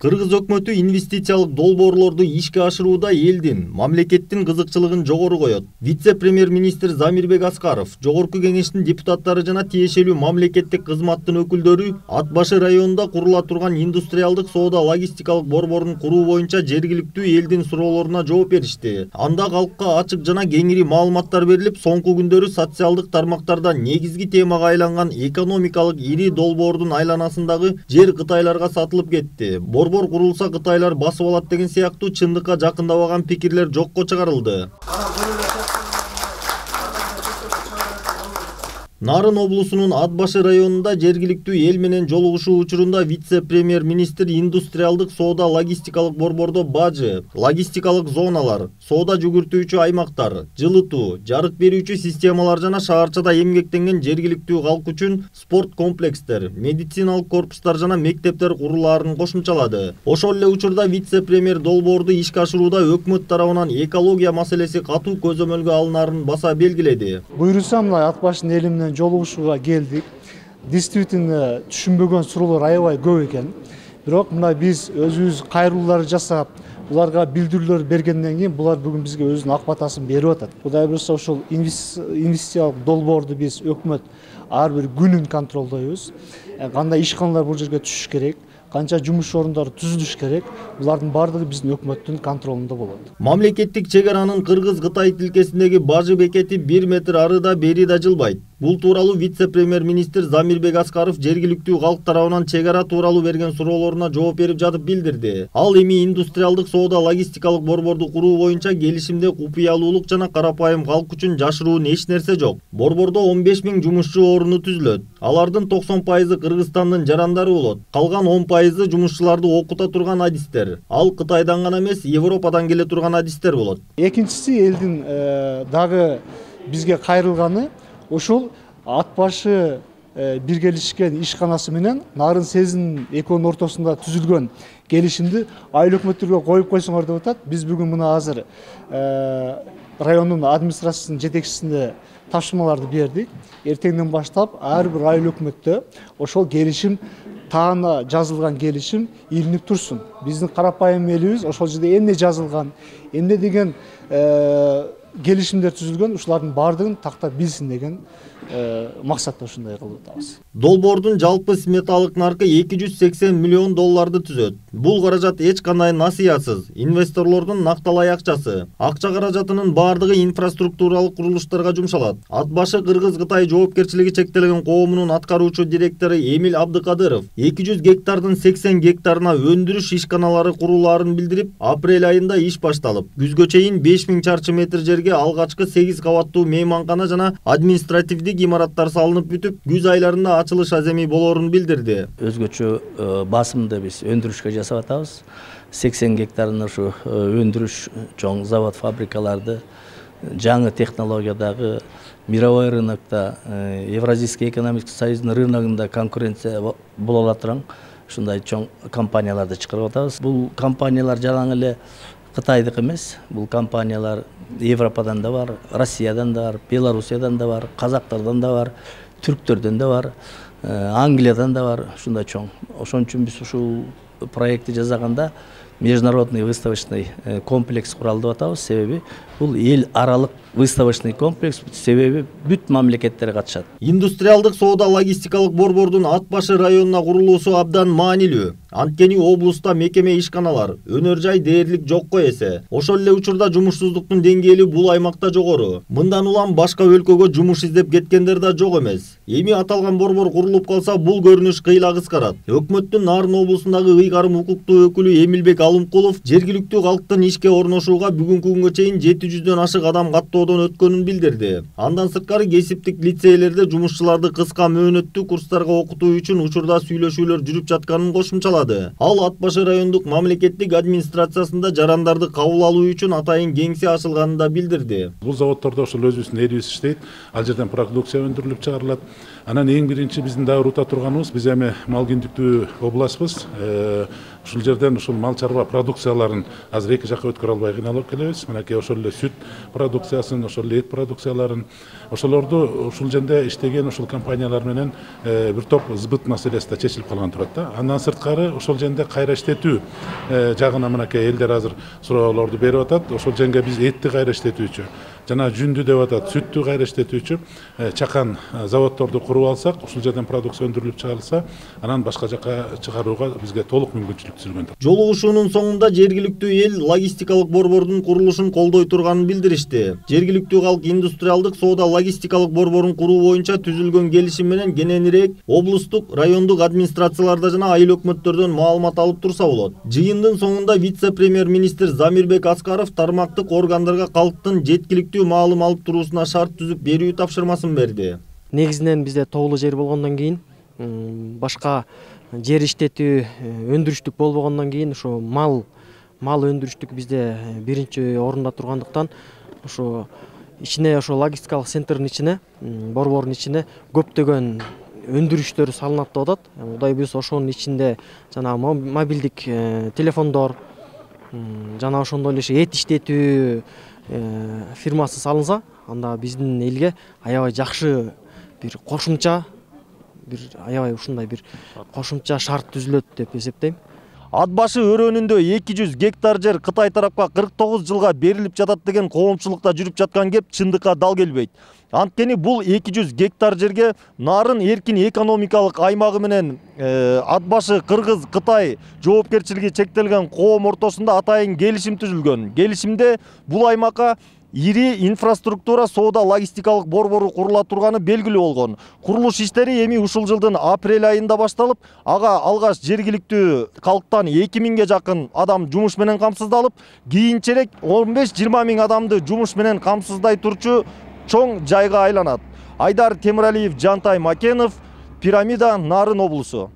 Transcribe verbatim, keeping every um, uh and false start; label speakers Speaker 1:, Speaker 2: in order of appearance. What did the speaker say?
Speaker 1: Кыргыз өкмөтү инвестициялык долбоорлорду ишке ашырууда элдин, мамлекеттин кызыкчылыгын жогору коет. Вице-премьер-министр Замирбек Аскаров, жогорку кеңештин депутаттары жана тиешелүү мамлекеттик кызматтын өкүлдөрү Ат башы районунда курула турган индустриалдык соода логистикалык борборун куруу боюнча жергиликтүү элдин суроолоруна жооп беришти. Анда калкка ачык жана кеңири маалыматтар берилип, соңку күндөрү социалдык тармактарда негизги темага айланган экономикалык ири долбоордун айланасындагы жер Кытайларга сатылып кетти. Борбор курулса Кытайлар басып алат деген сыяктуу чындыкка жакындабаган пикирлер жокко чыгарылды. Нарын облусунун Ат башы районунда жергиликтүү эл менен жолугушуу учурунда вице-премьер-министр индустриалдык соода логистикалык борбордо бажы, логистикалык зоналар, соода жүгүртүүчү аймактар, жылытуу, жарык берүүчү системалар жана шаарчада эмгектенген жергиликтүү калк үчүн спорт комплекстер, медициналык корпустар жана мектептер курулаарын кошумчалады. Ошол эле учурда вице-премьер долбоорду ишке ашырууда өкмөт тарабынан экология маселеси катуу көзөмөлгө алынаарын баса белгиледи.
Speaker 2: Буйруса мына Ат башынын эли менен жолугушууга келдик. Действительно түшүнбөгөн суроолор аябай көп экен. Бирок мына биз өзүбүз кайрылуулар жасап, буларга билдирүүлөр бергенден кийин булар бүгүн бизге өзүнүн ак батасын берип атат. Кудай буюрса ошол инвестициялык долбоорду биз өкмөт ар бир күнүн контролдойбуз. Кандай ишканалар бул жерге түшүш керек, канча жумуш орундары түзүлүш керек, булардын баардыгы биздин өкмөттүн контролунда болот.
Speaker 1: Мамлекеттик чек аранын Кыргыз-Кытай тилкесиндеги бажы бекети бир метр ары да бери да жылбайт. Бул тууралуу вице-премьер-министр Замирбек Аскаров жергиликтүү калк тарабынан чек ара тууралуу берген суроолоруна жооп берип жатып билдирди. Ал эми индустриалдык соода логистикалык борборду куруу боюнча келишимде купуялуулук жана карапайым калк үчүн жашыруун эч нерсе жок. Борбордо он беш миң жумушчу оруну түзүлөт. Алардын токсон пайызы Кыргызстандын жарандары болот. Калган он пайызы жумушчуларды окута турган адистер. Ал Кытайдан гана эмес, Европадан келе турган адистер болот.
Speaker 2: Экинчиси элдин дагы бизге кайрылганы ошол Ат башы биргелешкен ишканасы менен Нарын Сезин экөөнүн ортосунда түзүлгөн келишимди айыл өкмөттөргө коюп койсоңор деп атат. Биз бүгүн мына азыр райондун администрациясынын жетекчисине тапшырмаларды бердик. Эртеңден баштап ар бир айыл өкмөттө ошол келишим таана жазылган келишим илинип турсун. Биздин карапайым элибиз ошол жерде эмне жазылган, эмне деген келишимдер түзүлгөн, ушулардын баардыгын тактап билсин деген максатта ушундай кылып атабыз.
Speaker 1: Долбоордун жалпы сметалык наркы эки жүз сексен миллион долларды түзөт. Бул каражат эч кандай насыятсыз, инвесторлордун накталай акчасы. Акча каражатынын баардыгы инфраструктуралык курулуштарга жумшалат. Ат башы Кыргыз-Кытай жоопкерчилиги чектелген коомунун аткаруучу директору Эмил Абдыкадыров эки жүз гектардын сексен гектарына өндүрүш ишканалары курулаарын билдирип, апрель айында иш башталып, күзгө чейин беш миң чарчы метр жерге алгачкы сегиз кабаттуу мейманкана жана административдик имараттар салынып бүтүп, күз айларында ачылыш аземи болоорун билдирди.
Speaker 3: Өзгөчө басымды биз өндүрүшкө жасап атабыз. сексен гектарын ушу өндүрүш чоң завод фабрикаларды жаңы технологиядагы мировой рынокто, Евразийский экономический союздун рыногунда конкуренция боло алатыран ушундай чоң компанияларды чыгарып атабыз. Бул компаниялар жалаң эле Кытайдык эмес, бул компаниялар Европадан да бар, Россиядан да бар, Белоруссиядан да бар, казактардан да бар, түрктөрдөн да бар, Англиядан да бар, ушундай чоң. Ошон үчүн биз ушул проектти жасаганда международный выставочный комплекс куралды деп атабыз. Себеби бул эл аралык выставочный комплекс, себеби бүт мамлекеттер катышат.
Speaker 1: Индустриалдык соода логистикалык борбордун Ат башы районуна курулуусу абдан маанилүү. Анткени облуста мекеме ишканалар, өнөр жай дээрлик жокко эсе. Ошол эле учурда жумушсуздуктун деңгээли бул аймакта жогору. Мындан улам башка өлкөгө жумуш издеп кеткендер да жок эмес. Эми аталган борбор курулуп калса, бул көрүнүш кыйла кыскарат. Өкмөттүн Нарын облусундагы ыйгарым укуктуу өкүлү Эмилбек Алымкулов жергиликтүү калктын ишке орношууга бүгүнкү күнгө чейин жети жүздөн ашык адам каттоодон өткөнүн билдирди. Андан сырткары кесиптик лицейлерде жумушчуларды кыска мөөнөттүү курстарга окутуу үчүн учурда сүйлөшүүлөр жүрүп жатканын кошумчалады. Ал Ат башы райондук мамлекеттик администрациясында жарандарды кабыл алуу үчүн атайын кеңсе ачылганын да билдирди.
Speaker 4: Бул заводдордо ошол өзүбүздүн элибиз иштейт. Ал жерден продукция өндүрүлүп чыгарылат. Анан эң биринчи биздин дагы урута турганыбыз, биз эми мал күндүктүү областпыз. Ушул жерден ушул мал чарба продукцияларын азыр эки жакка өткөрө албай кыйналып келебиз. Мынакей ошол эле сүт продукциясын, ошол эле эт продукцияларын, ошолорду ушул жерде иштеген ушул компаниялар менен бир топ сбыт маселеси да чечилип калган турат да. Андан сырткары ошол жерде кайра иштетүү жагына мынакей элдер азыр суроолорду берип атат. Ошол жерге биз этти кайра иштетүүчү жана жүндү деп атат, сүттү кайра иштетүүчү чакан заводдорду куруп алсак, ушул жерден продукция өндүрүлүп чыгарылса, анан башка жакка чыгарууга бизге толук мүмкүнчүлүк түзүлгөн.
Speaker 1: Жолугушуунун соңунда жергиликтүү эл логистикалык борбордун курулушун колдой турганын билдиришти. Жергиликтүү калк индустриалдык соода логистикалык борборун куруу боюнча түзүлгөн келишим менен кененирээк облустук, райондук администрацияларда жана айыл өкмөттөрдөн маалымат алып турса болот. Жыйындын соңунда вице-премьер-министр Замирбек Аскаров тармактык органдарга калктын жеткиликтүү маалым алып туруусуна шарт түзүп берүү тапшырмасын берди.
Speaker 5: Негизинен бизде тоолуу жер болгондон кийин, башка жер иштетүү өндүрүштүк болбогондон кийин ушу мал мал өндүрүштүк бизде биринчи орунда тургандыктан ушу ичине ошо логистикалык центрдин ичине, борбордун ичине көптөгөн өндүрүштөр салынат деп атат. Кудай буюрса ошонун ичинде жана мобилдик телефондор жана ошондой эле эт иштетүү фирмасы салынса, анда биздин элге аябай жакшы бир кошумча бир аябай ушундай бир кошумча шарт түзүлөт деп эсептейм.
Speaker 1: Ат башы өрөөнүндө эки жүз гектар жер Кытай тарапка кырк тогуз жылга берилип жатат деген коомчулукта жүрүп жаткан кеп чындыкка дал келбейт. Анткени бул эки жүз гектар жерге Нарын эркин экономикалык аймагы менен ат башы Кыргыз Кытай жоопкерчилиги чектелген коом ортосунда атайын келишим түзүлгөн. Келишимде бул аймакка ири инфраструктура соода логистикалык борбору курула турганы белгилүү болгон. Курулуш иштери эми ушул жылдын апрель айында башталып, ага алгаш жергиликтүү калктан эки миңге жакын адам жумуш менен камсыздалып, кийинчерээк он беш жыйырма миң адамды жумуш менен камсыздай турчу чоң жайга айланат. Айдар Темиралиев, Жантай Макенов, Пирамида, Нарын облусу.